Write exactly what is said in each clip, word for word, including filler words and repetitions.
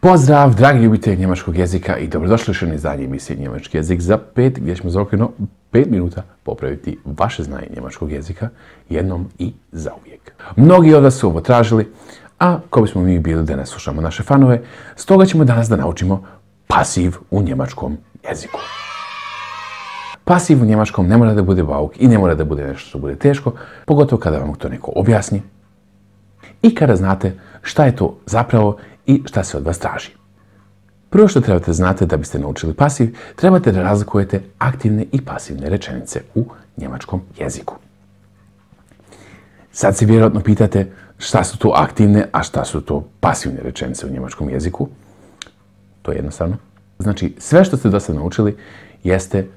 Pozdrav, dragi ljubitelji njemačkog jezika i dobrodošli u još izdanje emisije Njemački jezik za pet, gdje ćemo za okvirno pet minuta popraviti vaše znanje njemačkog jezika jednom i zauvijek. Mnogi od vas su ovo tražili, a ko bismo mi bili da ne slušamo naše fanove, stoga ćemo danas da naučimo pasiv u njemačkom jeziku. Pasiv u njemačkom ne mora da bude bauk i ne mora da bude nešto što bude teško, pogotovo kada vam to neko objasni i kada znate šta je to zapravo i šta se od vas traži. Prvo što trebate znati da biste naučili pasiv, trebate da razlikujete aktivne i pasivne rečenice u njemačkom jeziku. Sad se vjerojatno pitate šta su to aktivne, a šta su to pasivne rečenice u njemačkom jeziku. To je jednostavno. Znači, sve što ste do sad naučili jeste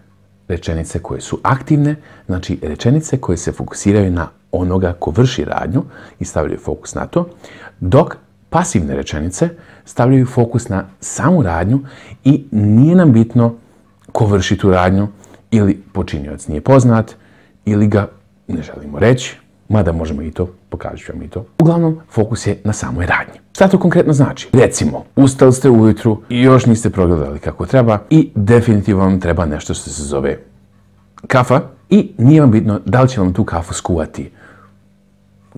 rečenice koje su aktivne, znači rečenice koje se fokusiraju na onoga ko vrši radnju i stavljaju fokus na to, dok pasivne rečenice stavljaju fokus na samu radnju i nije nam bitno ko vrši tu radnju ili počinioc nije poznat ili ga ne želimo reći, mada možemo i to, pokažat ću vam i to. Uglavnom, fokus je na samoj radnji. Šta to konkretno znači? Recimo, ustali ste ujutru i još niste progledali kako treba i definitivno vam treba nešto što se zove kafa i nije vam bitno da li će vam tu kafu skuvati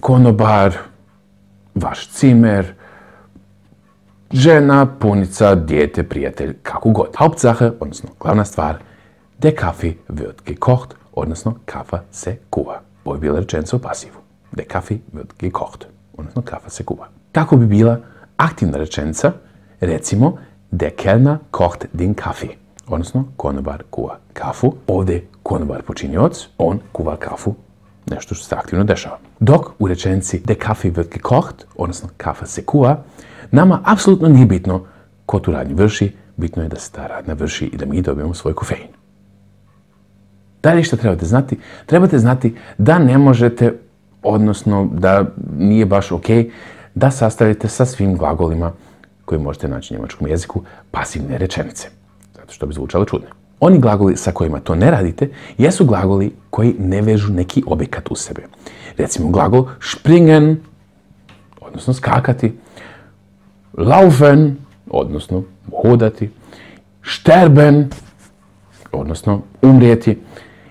konobar, vaš cimer, žena, punica, dijete, prijatelj, kako god. Hauptsache, odnosno glavna stvar, der Kaffee wird gekocht, odnosno kafa se kuva. Ovo je bila rečenica u pasivu. Der Kaffee wird gekocht, odnosno kafa se kuva. Kako bi bila aktivna rečenica, recimo, der Kellner kocht den Kaffee, odnosno konobar kuva kafu. Ovdje konobar počinioc, on kuva kafu, nešto što se aktivno dešava. Dok u rečenici der Kaffee wird gekocht, odnosno kafa se kuva, nama apsolutno nije bitno ko tu radnju vrši, bitno je da se ta radnja vrši i da mi dobijemo svoj kofein. Dalje što trebate znati? Trebate znati da ne možete, odnosno da nije baš ok, da sastavite sa svim glagolima koji možete naći u njemačkom jeziku pasivne rečenice, zato što bi zvučalo čudno. Oni glagoli sa kojima to ne radite jesu glagoli koji ne vežu neki objekat u sebe. Recimo glagol springen, odnosno skakati, laufen, odnosno hodati, sterben, odnosno umrijeti,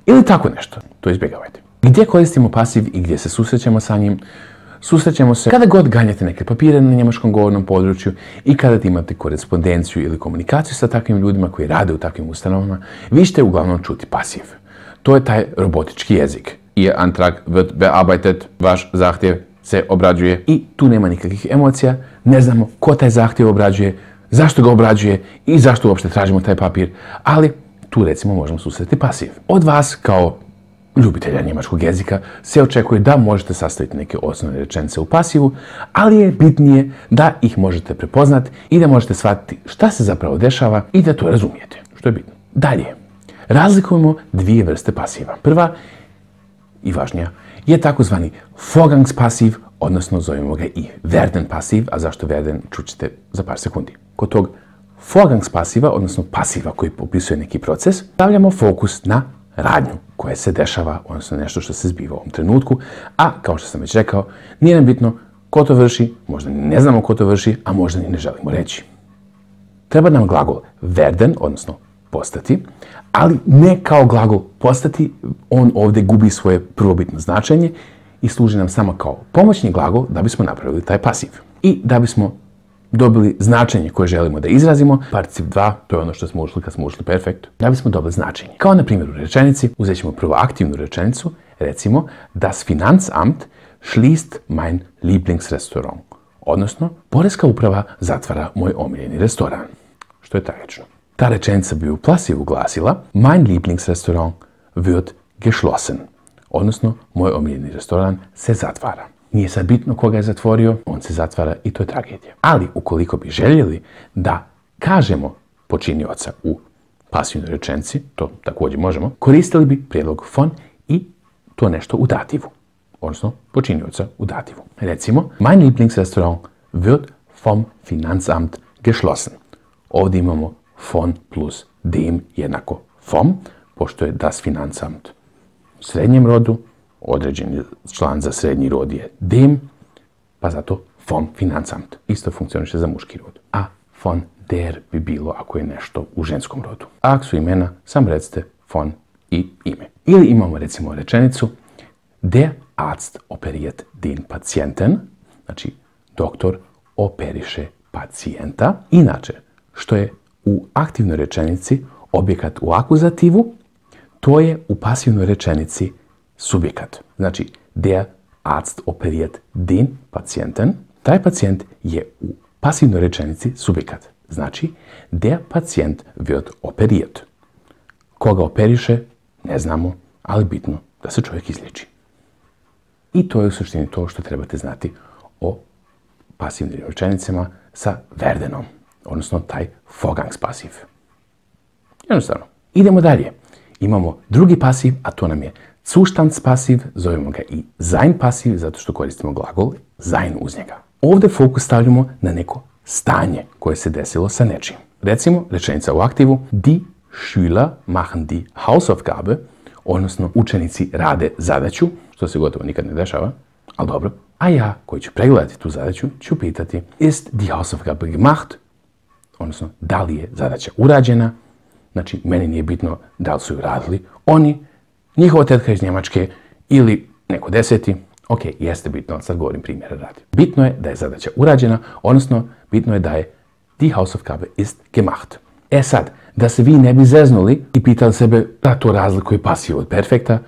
ili tako nešto. To izbjegavajte. Gdje koristimo pasiv i gdje se susrećemo sa njim? Susrećemo se kada god ganjate neke papire na njemačkom govornom području i kada imate korespondenciju ili komunikaciju sa takvim ljudima koji rade u takvim ustanovama, vi ćete uglavnom čuti pasiv. To je taj robotički jezik. Ihr Antrag wird bearbeitet, vaš zahtjev se obrađuje i tu nema nikakvih emocija, ne znamo ko taj zahtjev obrađuje, zašto ga obrađuje i zašto uopšte tražimo taj papir, ali tu recimo možemo susreti pasiv. Od vas kao ljubitelja njemačkog jezika se očekuje da možete sastaviti neke osnovne rečenice u pasivu, ali je bitnije da ih možete prepoznati i da možete shvatiti šta se zapravo dešava i da to razumijete, što je bitno. Dalje, razlikujemo dvije vrste pasiva. Prva i važnija je takozvani Vorgangspasiv, odnosno zovemo ga i werden pasiv, a zašto werden čućete za par sekundi. Kod tog Vorgangspasiva, odnosno pasiva koji opisuje neki proces, stavljamo fokus na radnju koja se dešava, odnosno nešto što se zbiva u ovom trenutku, a kao što sam već rekao, nije nam bitno ko to vrši, možda ne znamo ko to vrši, a možda ni ne želimo reći. Treba nam glagol werden, odnosno postati, ali ne kao glagol postati, on ovdje gubi svoje prvobitno značenje i služi nam samo kao pomoćni glagol da bismo napravili taj pasiv. I da bismo dobili značenje koje želimo da izrazimo, particip dva, to je ono što smo ušli kad smo ušli perfekt, da bismo dobili značenje. Kao na primjer u rečenici, uzet ćemo prvo aktivnu rečenicu, recimo, das Finanzamt schließt mein Lieblingsrestaurant, odnosno, poreska uprava zatvara moj omiljeni restoran, što je tragično. Ta rečenica bi u pasivu glasila mein Lieblingsrestaurant wird geschlossen, odnosno moj omiljeni restoran se zatvara. Nije sad bitno koga je zatvorio, on se zatvara i to je tragedija. Ali ukoliko bi željeli da kažemo počinioca u pasivnoj rečenici, to također možemo, koristili bi prijedlog von i to nešto u dativu, odnosno počinioca u dativu. Recimo, mein Lieblingsrestaurant wird vom Finanzamt geschlossen. Ovdje imamo von plus dem jednako vom, pošto je das Finanzamt u srednjem rodu, određeni član za srednji rod je dem, pa zato vom Finanzamt. Isto funkcioniše za muški rod. A von der bi bilo ako je nešto u ženskom rodu. A ako su imena, sam recite von i ime. Ili imamo recimo rečenicu der Arzt operiert den Patienten, znači doktor operiše pacijenta. Inače, što je u aktivnoj rečenici objekat u akuzativu, to je u pasivnoj rečenici subjekat. Znači, der Arzt operiert den Patienten. Taj pacijent je u pasivnoj rečenici subjekat. Znači, der Patient wird operiert. Koga operiše, ne znamo, ali bitno da se čovjek izliječi. I to je u suštini to što trebate znati o pasivnim rečenicama sa Verdenom, odnosno taj Vorgangspasiv. Jednostavno. Idemo dalje. Imamo drugi pasiv, a to nam je Zustandspasiv, zovemo ga i sein pasiv, zato što koristimo glagol sein uz njega. Ovdje fokus stavljamo na neko stanje koje se desilo sa nečim. Recimo, rečenica u aktivu, die Schüler machen die Hausaufgabe, odnosno učenici rade zadaću, što se gotovo nikad ne dešava, ali dobro. A ja, koji ću pregledati tu zadaću, ću pitati ist die Hausaufgabe gemacht, odnosno da li je zadaća urađena. Znači, meni nije bitno da li su ju radili oni, njihova tetka iz Njemačke ili neko deseti. Ok, jeste bitno, sad govorim primjera radi. Bitno je da je zadaća urađena, odnosno bitno je da je die Hausaufgabe ist gemacht. E sad, da se vi ne bi zeznuli i pitali sebe da to razlikuje pasiv od perfekta,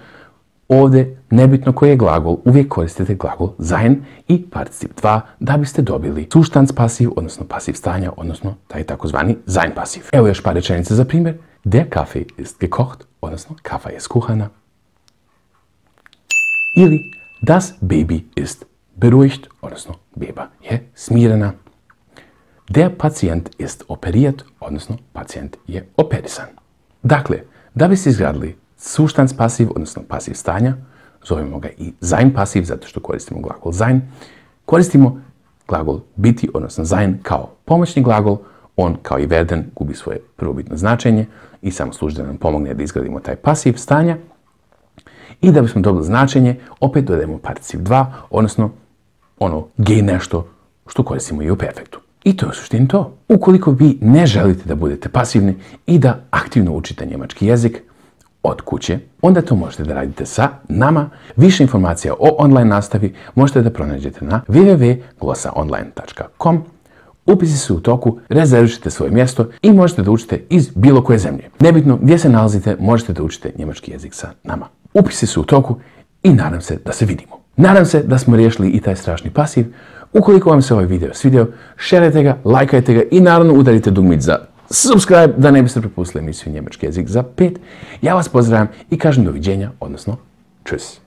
ovdje, nebitno koji je glagol, uvijek koristite glagol sein i particip dva da biste dobili Zustandspasiv, odnosno pasiv stanja, odnosno taj takozvani sein pasiv. Evo još par rečenica za primjer. Der Kaffee ist gekocht, odnosno kafa je skuhana. Ili das Baby ist beruhigt, odnosno beba je smirena. Der Patient ist operiert, odnosno pacijent je operisan. Dakle, da biste izgradili Zustandspasiv, odnosno pasiv stanja, zovemo ga i sein pasiv, zato što koristimo glagol sein. Koristimo glagol biti, odnosno sein, kao pomoćni glagol. On, kao i werden, gubi svoje prvobitno značenje i samo služi da nam pomogne da izgradimo taj pasiv stanja. I da bismo dobili značenje, opet dodajemo particip dva, odnosno ono ge nešto što koristimo i u perfektu. I to je u suštini to. Ukoliko vi ne želite da budete pasivni i da aktivno učite njemački jezik od kuće, onda to možete da radite sa nama. Više informacija o online nastavi možete da pronađete na w w w tačka glosaonline tačka com. Upisi su u toku, rezervišite svoje mjesto i možete da učite iz bilo koje zemlje. Nebitno gdje se nalazite, možete da učite njemački jezik sa nama. Upisi su u toku i nadam se da se vidimo. Nadam se da smo riješili i taj strašni pasiv. Ukoliko vam se ovaj video svidio, šerajte ga, lajkajte ga i naravno udarite dugmić za subscribe da ne biste propustili emisiju Njemački jezik za pet. Ja vas pozdravljam i kažem doviđenja, odnosno čus.